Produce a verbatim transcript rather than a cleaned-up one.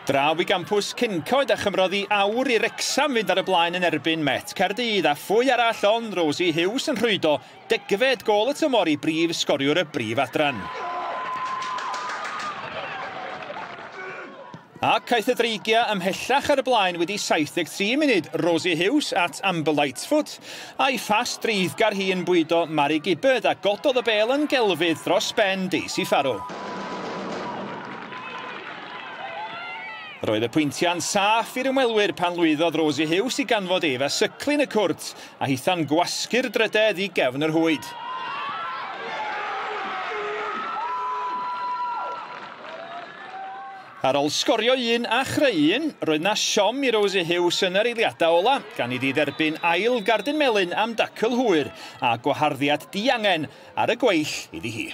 Draw i gampws Cyncoed a chymrodd i awr i Wrecsam fynd ar y blaen yn erbyn Met Caerdydd, a phwy arall ond Rosie Hughes yn rhwydo degfed gôl y tymor i brif sgoriwr y brif adran. Ac aeth y Dreigiau ymhellach ar y blaen wedi saith deg tri munud, Rosie Hughes at Amber Lightfoot, a'i phas dreiddgar hi yn bwydo Mari Gibbard a gododd y bêl yn gelfydd dros ben Daisy Farrow. Roedd y pwyntiau'n saff i'r ymwelwyr pan lwyddodd Rosie Hughes i ganfod Eva Syclin y cwrt a hitha'n gwasgu'r drydedd i gefn yr hwyd. Ar ôl sgorio un a chreu un, roedd na siom i Rosie Hughes yn yr eiliadau ola, gan iddi dderbyn ail gardyn melyn am dacl hwyr a gwaharddiad diangen ar y gweill iddi hi.